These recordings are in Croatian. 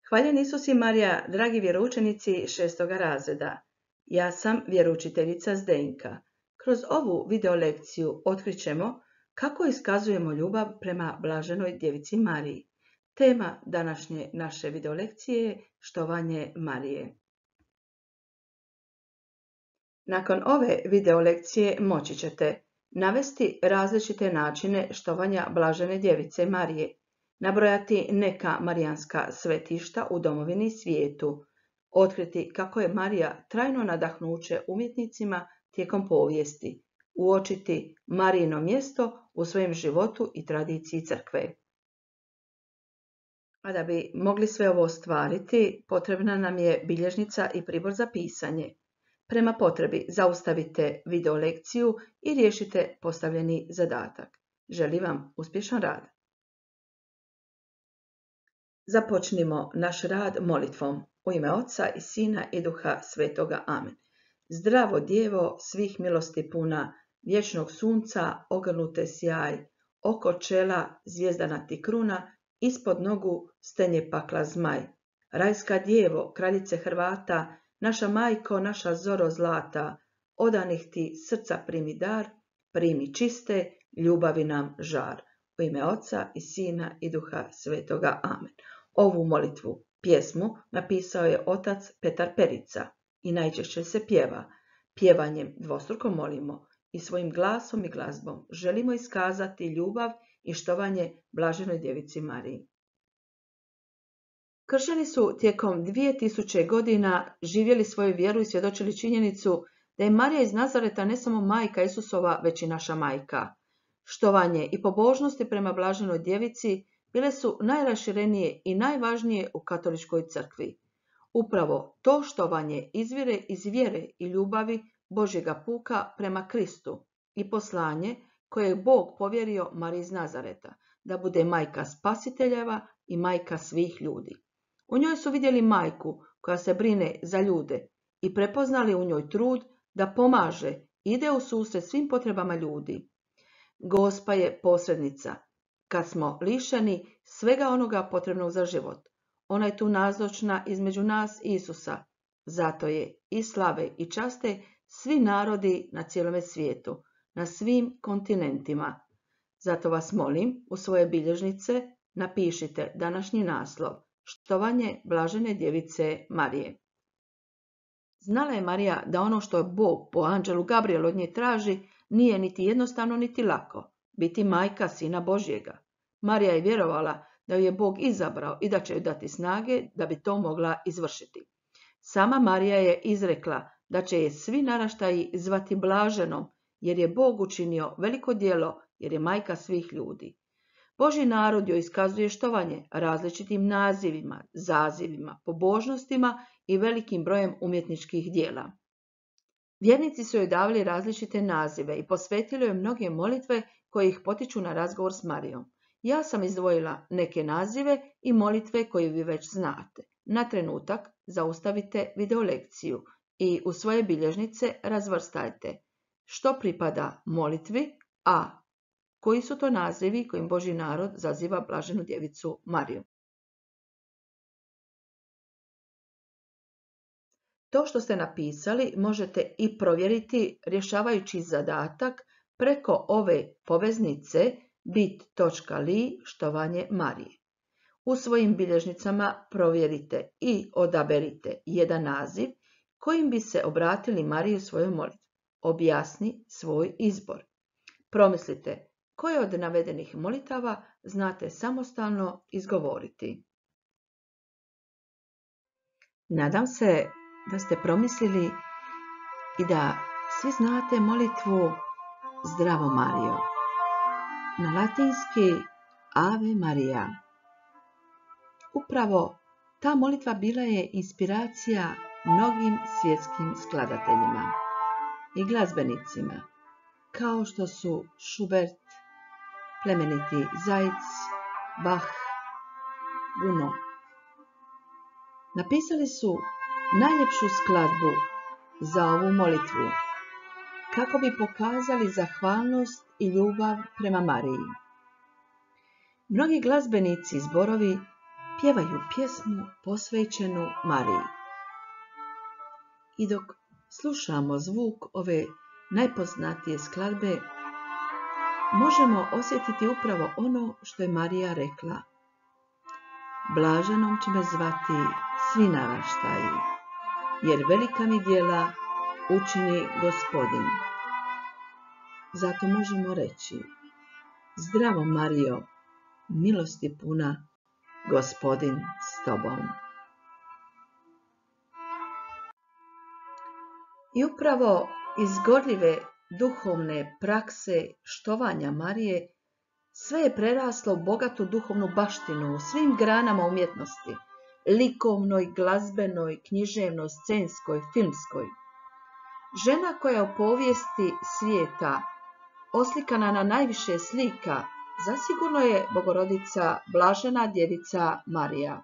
Hvaljen Isus i Marija, dragi vjeroučenici 6. razreda. Ja sam vjeroučiteljica Zdenka. Kroz ovu video lekciju otkrićemo kako iskazujemo ljubav prema blaženoj djevici Mariji. Tema današnje naše video lekcije je štovanje Marije. Nakon ove video lekcije moći ćete navesti različite načine štovanja blažene djevice Marije, nabrojati neka marijanska svetišta u domovini i svijetu, otkriti kako je Marija trajno nadahnuće umjetnicima tijekom povijesti, uočiti Marijino mjesto u svojem životu i tradiciji crkve. A da bi mogli sve ovo ostvariti, potrebna nam je bilježnica i pribor za pisanje. Prema potrebi zaustavite video lekciju i riješite postavljeni zadatak. Želim vam uspješan rad. Započnimo naš rad molitvom. U ime Oca i Sina i Duha Svetoga. Amen. Zdravo djevo, svih milosti puna, vječnog sunca, ogrnute sjaj, oko čela zvijezdana ti kruna, ispod nogu stenje pakla zmaj. Rajska djevo, kraljice Hrvata, naša majko, naša zoro zlata, odanih ti srca primi dar, primi čiste, ljubavi nam žar. U ime Oca i Sina i Duha Svetoga. Amen. Ovu molitvu, pjesmu, napisao je otac Petar Perica i najčešće se pjeva. Pjevanjem dvostruko molimo i svojim glasom i glazbom želimo iskazati ljubav i štovanje blaženoj djevici Mariji. Kršćani su tijekom 2000 godina živjeli svoju vjeru i svjedočili činjenicu da je Marija iz Nazareta ne samo majka Isusova, već i naša majka. Štovanje i pobožnosti prema blaženoj djevici bile su najraširenije i najvažnije u katoličkoj crkvi. Upravo to štovanje izvire iz vjere i ljubavi Božjega puka prema Kristu i poslanje koje je Bog povjerio Mariji iz Nazareta, da bude majka spasiteljeva i majka svih ljudi. U njoj su vidjeli majku koja se brine za ljude i prepoznali u njoj trud da pomaže, ide u susret svim potrebama ljudi. Gospa je posrednica kad smo lišeni svega onoga potrebnog za život. Ona je tu nazočna između nas i Isusa. Zato je i slave i časte svi narodi na cijelome svijetu, na svim kontinentima. Zato vas molim, u svoje bilježnice napišite današnji naslov štovanje blažene djevice Marije. Znala je Marija da ono što Bog po anđelu Gabrielu od nje traži nije niti jednostavno niti lako, biti majka Sina Božjega. Marija je vjerovala da ju je Bog izabrao i da će joj dati snage da bi to mogla izvršiti. Sama Marija je izrekla da će je svi naraštaji zvati blaženom, jer je Bog učinio veliko djelo, jer je majka svih ljudi. Božji narod joj iskazuje štovanje različitim nazivima, zazivima, pobožnostima i velikim brojem umjetničkih djela. Vjernici su joj davali različite nazive i posvetili joj mnoge molitve koje ih potiču na razgovor s Marijom. Ja sam izdvojila neke nazive i molitve koje vi već znate. Na trenutak zaustavite video lekciju i u svoje bilježnice razvrstajte što pripada molitvi, a koji su to nazivi kojim Božji narod zaziva blaženu djevicu Mariju. To što ste napisali možete i provjeriti rješavajući zadatak preko ove poveznice bit.ly štovanje Marije. U svojim bilježnicama provjerite i odaberite jedan naziv kojim bi se obratili Mariji u svojoj molitvi. Objasni svoj izbor. Promislite koje od navedenih molitava znate samostalno izgovoriti. Nadam se da ste promislili i da svi znate molitvu Zdravo Marijo. Na latinski Ave Maria. Upravo ta molitva bila je inspiracija mnogim svjetskim skladateljima i glazbenicima, kao što su Schubert, plemeniti Zajc, Bach, Gounod. Napisali su najljepšu skladbu za ovu molitvu, kako bi pokazali zahvalnost i ljubav prema Mariji. Mnogi glazbenici i zborovi pjevaju pjesmu posvećenu Mariji. I dok slušamo zvuk ove najpoznatije skladbe, možemo osjetiti upravo ono što je Marija rekla. Blaženom će me zvati svi naraštaji, jer velika mi djela učini Gospodin. Zato možemo reći, zdravo Marijo, milosti puna, Gospodin s tobom. I upravo iz gorljive duhovne prakse štovanja Marije sve je preraslo u bogatu duhovnu baštinu u svim granama umjetnosti, likovnoj, glazbenoj, književnoj, scenskoj, filmskoj. Žena koja u povijesti svijeta oslikana na najviše slika, zasigurno je Bogorodica Blažena djevica Marija.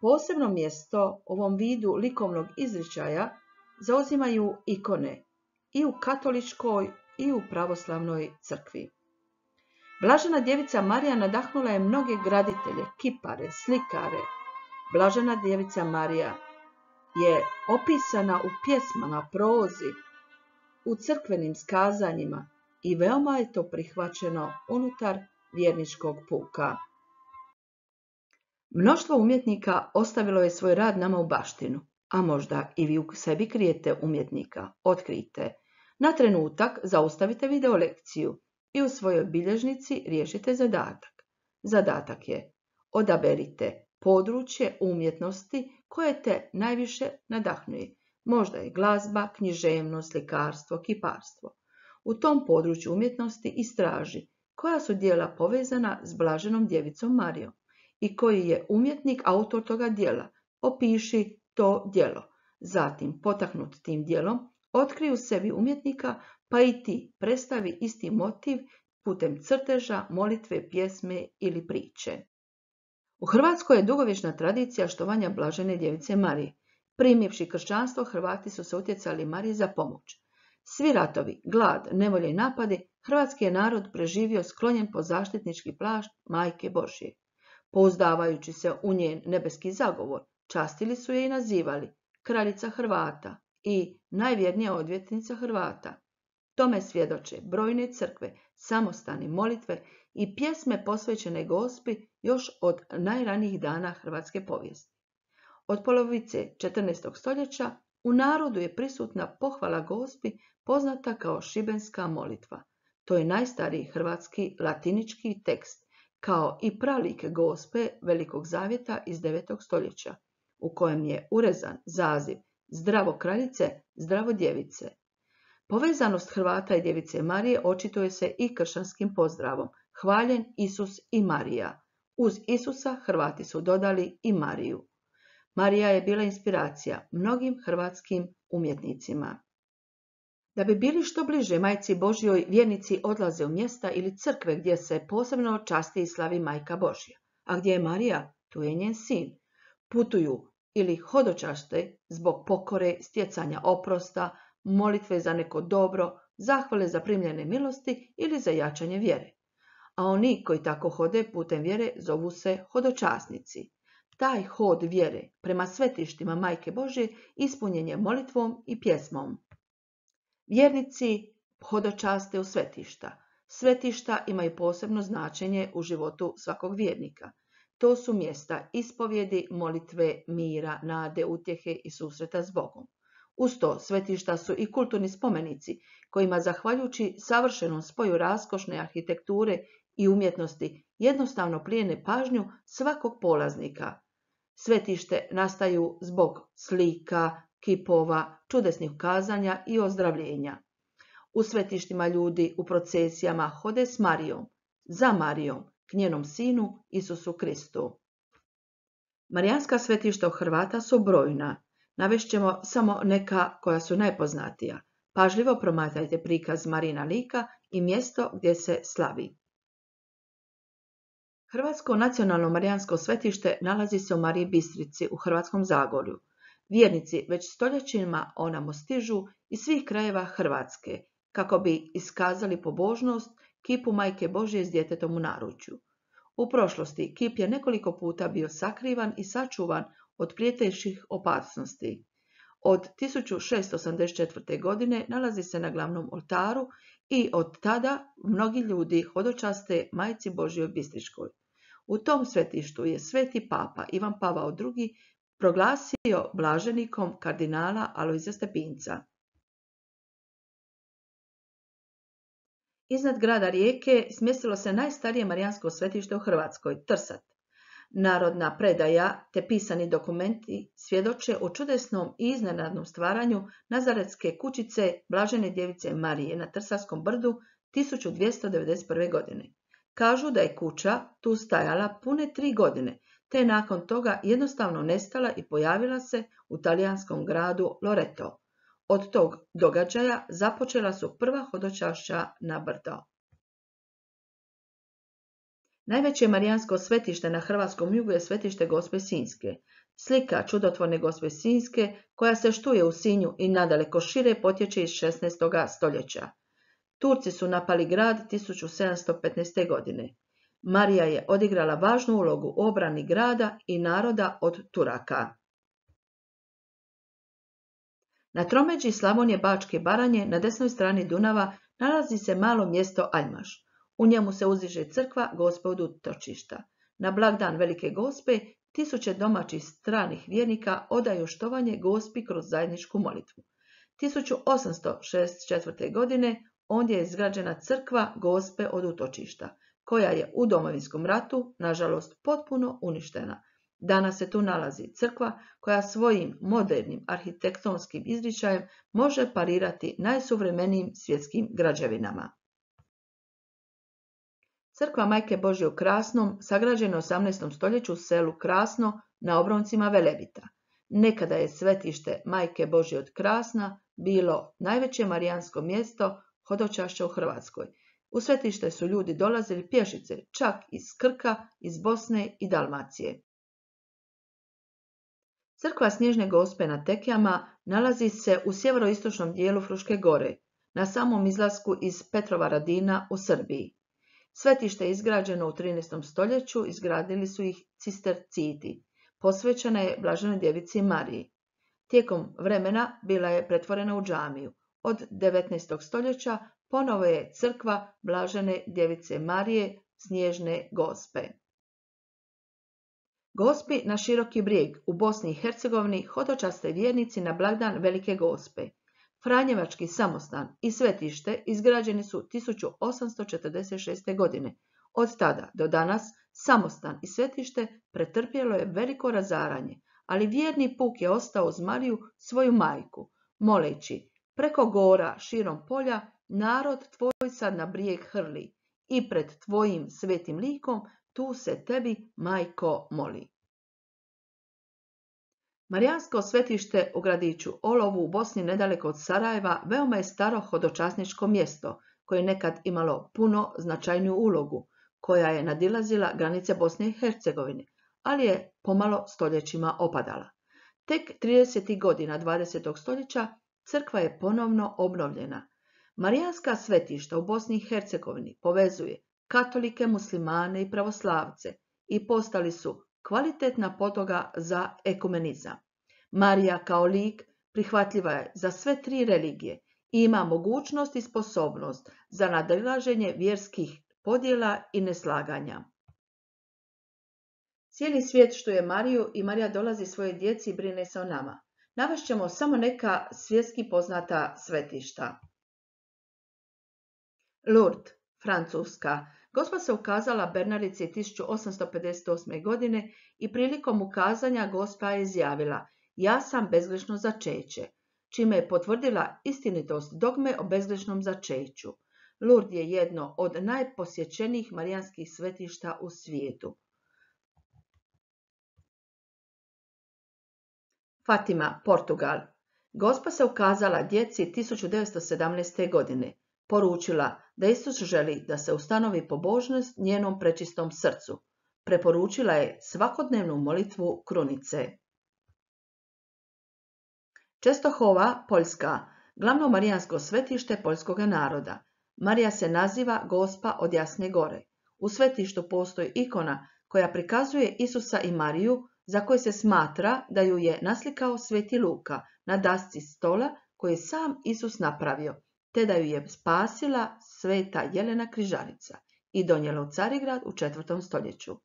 Posebno mjesto ovom vidu likovnog izričaja zauzimaju ikone i u katoličkoj i u pravoslavnoj crkvi. Blažena djevica Marija nadahnula je mnoge graditelje, kipare, slikare. Blažena djevica Marija je opisana u pjesmama, prozi, u crkvenim skazanjima i veoma je to prihvaćeno unutar vjerničkog puka. Mnoštvo umjetnika ostavilo je svoj rad nama u baštinu, a možda i vi u sebi krijete umjetnika. Otkrijte. Na trenutak zaustavite video lekciju i u svojoj bilježnici riješite zadatak. Zadatak je: odaberite područje umjetnosti koje te najviše nadahnuje. Možda je glazba, književnost, slikarstvo, kiparstvo. U tom području umjetnosti istraži koja su djela povezana s Blaženom djevicom Marijom i koji je umjetnik autor toga djela. Opiši to djelo. Zatim, potaknut tim djelom, otkrij u sebi umjetnika, pa i ti predstavi isti motiv putem crteža, molitve, pjesme ili priče. U Hrvatskoj je dugovječna tradicija štovanja Blažene djevice Marije. Primivši kršćanstvo, Hrvati su se utjecali Mariji za pomoć. Svi ratovi, glad, nevolje i napadi, hrvatski je narod preživio sklonjen pod zaštitnički plašt Majke Božje. Pouzdavajući se u njen nebeski zagovor, častili su je i nazivali kraljica Hrvata i najvjernija odvjetnica Hrvata. Tome svjedoče brojne crkve, samostani, molitve i pjesme posvećene Gospi još od najranijih dana hrvatske povijesti. Od polovice 14. stoljeća u narodu je prisutna pohvala Gospi poznata kao šibenska molitva. To je najstariji hrvatski latinički tekst, kao i pralik Gospe Velikog zavjeta iz 9. stoljeća, u kojem je urezan zaziv zdravo kraljice, zdravo djevice. Povezanost Hrvata i djevice Marije očituje se i kršćanskim pozdravom: hvaljen Isus i Marija. Uz Isusa Hrvati su dodali i Mariju. Marija je bila inspiracija mnogim hrvatskim umjetnicima. Da bi bili što bliže Majci Božjoj, vjernici odlaze u mjesta ili crkve gdje se posebno časti i slavi Majka Božja. A gdje je Marija, tu je njen sin. Putuju ili hodočaste zbog pokore, stjecanja oprosta, molitve za neko dobro, zahvale za primljene milosti ili za jačanje vjere. A oni koji tako hode putem vjere zovu se hodočasnici. Taj hod vjere prema svetištima Majke Božje ispunjen je molitvom i pjesmom. Vjernici hodočaste u svetišta. Svetišta imaju posebno značenje u životu svakog vjernika. To su mjesta ispovjedi, molitve, mira, nade, utjehe i susreta s Bogom. Uz to, svetišta su i kulturni spomenici, kojima, zahvaljujući savršenom spoju raskošne arhitekture i umjetnosti, jednostavno plijene pažnju svakog polaznika. Svetište nastaju zbog slika, kipova, čudesnih kazanja i ozdravljenja. U svetištima ljudi u procesijama hode s Marijom, za Marijom, k njenom sinu Isusu Kristu. Marijanska svetišta u Hrvata su brojna. Navešćemo samo neka koja su najpoznatija. Pažljivo promatrajte prikaz Marijina lika i mjesto gdje se slavi. Hrvatsko nacionalno marijansko svetište nalazi se u Mariji Bistrici u Hrvatskom Zagorju. Vjernici već stoljećima onamo stižu iz svih krajeva Hrvatske, kako bi iskazali pobožnost kipu Majke Božje s djetetom u naručju. U prošlosti kip je nekoliko puta bio sakrivan i sačuvan od prijetećih opasnosti. Od 1684. godine nalazi se na glavnom oltaru i od tada mnogi ljudi hodočaste Majci Božjoj Bistričkoj. U tom svetištu je sveti papa Ivan Pavao II proglasio blaženikom kardinala Alojzija Stepinca. Iznad grada Rijeke smjestilo se najstarije marijansko svetište u Hrvatskoj, Trsat. Narodna predaja te pisani dokumenti svjedoče o čudesnom i iznenadnom stvaranju Nazaretske kućice Blažene djevice Marije na Trsarskom brdu 1291. godine. Kažu da je kuća tu stajala pune 3 godine, te je nakon toga jednostavno nestala i pojavila se u talijanskom gradu Loreto. Od tog događaja započela su prva hodočašća na brdo. Najveće marijansko svetište na hrvatskom jugu je svetište Gospe Sinjske. Slika čudotvorne Gospe Sinjske, koja se štuje u Sinju i nadaleko šire, potječe iz 16. stoljeća. Turci su napali grad 1715. godine. Marija je odigrala važnu ulogu u obrani grada i naroda od Turaka. Na tromeđi Slavonije, Bačke i Baranje, na desnoj strani Dunava, nalazi se malo mjesto Aljmaš. U njemu se uzdiže crkva Gospe od utočišta. Na blagdan Velike Gospe tisuće domaćih stranih vjernika odaju štovanje Gospi kroz zajedničku molitvu. 1864. godine ondje je izgrađena crkva Gospe od utočišta, koja je u Domovinskom ratu, nažalost, potpuno uništena. Danas se tu nalazi crkva koja svojim modernim arhitektonskim izričajem može parirati najsuvremenijim svjetskim građevinama. Crkva Majke Božje u Krasnom sagrađena u 18. stoljeću u selu Krasno na obroncima Velebita. Nekada je svetište Majke Božje od Krasna bilo najveće marijansko mjesto hodočašća u Hrvatskoj. U svetište su ljudi dolazili pješice, čak iz Krka, iz Bosne i Dalmacije. Crkva Snježne Gospe na Tekijama nalazi se u sjeveroistočnom dijelu Fruške gore, na samom izlasku iz Petrovaradina u Srbiji. Svetište je izgrađeno u 13. stoljeću, izgradili su ih cisterciti. Posvećena je Blaženoj djevici Mariji. Tijekom vremena bila je pretvorena u džamiju. Od 19. stoljeća ponovo je crkva Blažene djevice Marije Snježne Gospe. Gospi na Široki Brijeg u Bosni i Hercegovini hodočaste vjernici na blagdan Velike Gospe. Franjevački samostan i svetište izgrađeni su 1846. godine. Od tada do danas samostan i svetište pretrpjelo je veliko razaranje, ali vjerni puk je ostao uz Mariju, svoju majku, moleći: preko gora širom polja narod tvoj sad na brijeg hrli i pred tvojim svetim likom tu se tebi, majko, moli. Marijansko svetište u gradiću Olovu u Bosni nedaleko od Sarajeva veoma je staro hodočasničko mjesto koje je nekad imalo puno značajniju ulogu, koja je nadilazila granice Bosne i Hercegovine, ali je pomalo stoljećima opadala. Tek 30. godina 20. stoljeća crkva je ponovno obnovljena. Marijanska svetišta u Bosni i Hercegovini povezuje katolike, muslimane i pravoslavce i postali su kvalitetna podloga za ekumenizam. Marija kao lik prihvatljiva je za sve 3 religije i ima mogućnost i sposobnost za nadilaženje vjerskih podjela i neslaganja. Cijeli svijet štuje Mariju i Marija dolazi svojoj djeci i brine se o nama. Navešćemo samo neka svjetski poznata svetišta. Lourdes, Francuska. Gospa se ukazala Bernardici 1858. godine i prilikom ukazanja Gospa je izjavila: ja sam bezgrešno začeće, čime je potvrdila istinitost dogme o bezgrešnom začeću. Lourdes je jedno od najposjećenijih marijanskih svetišta u svijetu. Fatima, Portugal. Gospa se ukazala djeci 1917. godine. Poručila da Isus želi da se ustanovi pobožnost njenom prečistom srcu. Preporučila je svakodnevnu molitvu krunice. Čestohova, Poljska, glavno marijansko svetište poljskoga naroda. Marija se naziva Gospa od Jasne gore. U svetištu postoji ikona koja prikazuje Isusa i Mariju, za koju se smatra da ju je naslikao sveti Luka na dasci stola koji je sam Isus napravio, te da ju je spasila sveta Jelena Križarica i donijela u Carigrad u 4. stoljeću.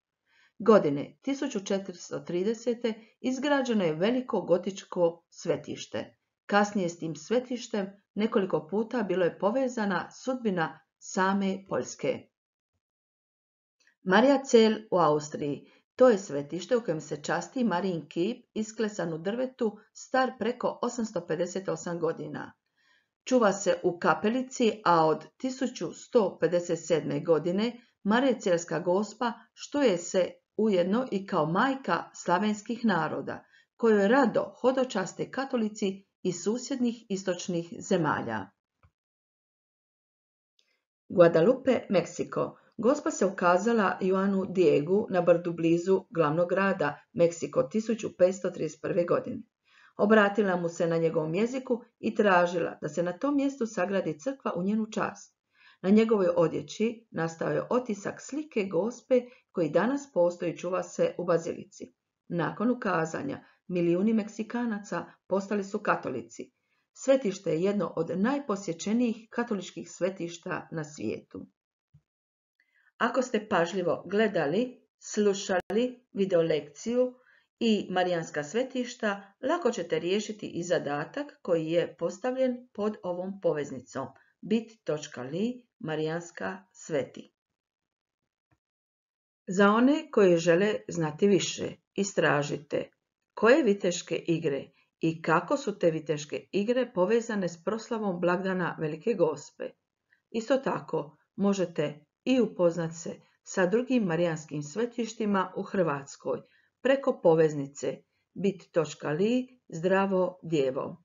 Godine 1430. izgrađeno je veliko gotičko svetište. Kasnije s tim svetištem nekoliko puta bilo je povezana sudbina same Poljske. Mariazell u Austriji. To je svetište u kojem se časti Marijin kip isklesan u drvetu star preko 858 godina. Čuva se u kapelici, a od 1157. godine Mariazellska gospa štuje se ujedno i kao majka slavenskih naroda, kojoj rado hodočaste katolici iz susjednih istočnih zemalja. Guadalupe, Meksiko. Gospa se ukazala Juanu Diegu na brdu blizu glavnog grada Meksiko 1531. godine. Obratila mu se na njegovom jeziku i tražila da se na tom mjestu sagradi crkva u njenu čast. Na njegovoj odjeći nastao je otisak slike gospe koji danas postoji i čuva se u bazilici. Nakon ukazanja, milijuni Meksikanaca postali su katolici. Svetište je jedno od najposjećenijih katoličkih svetišta na svijetu. Ako ste pažljivo gledali, slušali video lekciju i marijanska svetišta, lako ćete riješiti i zadatak koji je postavljen pod ovom poveznicom bit.ly marijanska sveti. Za one koji žele znati više, istražite koje viteške igre i kako su te viteške igre povezane s proslavom blagdana Velike Gospe. Isto tako možete i upoznat se sa drugim marijanskim svetištima u Hrvatskoj preko poveznice bit.ly zdravo djevo.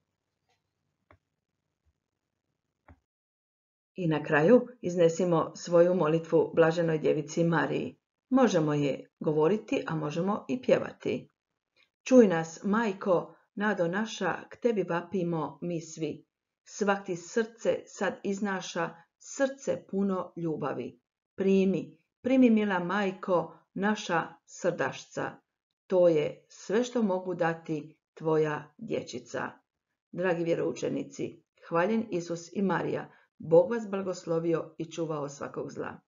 I na kraju iznesimo svoju molitvu Blaženoj Djevici Mariji. Možemo je govoriti, a možemo i pjevati. Čuj nas, Majko, nado naša, k tebi vapimo mi svi. Svak ti srce sad iznaša, srce puno ljubavi. Primi mila Majko, naša srdašca. To je sve što mogu dati tvoja dječica. Dragi vjeroučenici, hvaljen Isus i Marija, Bog vas blagoslovio i čuvao svakog zla.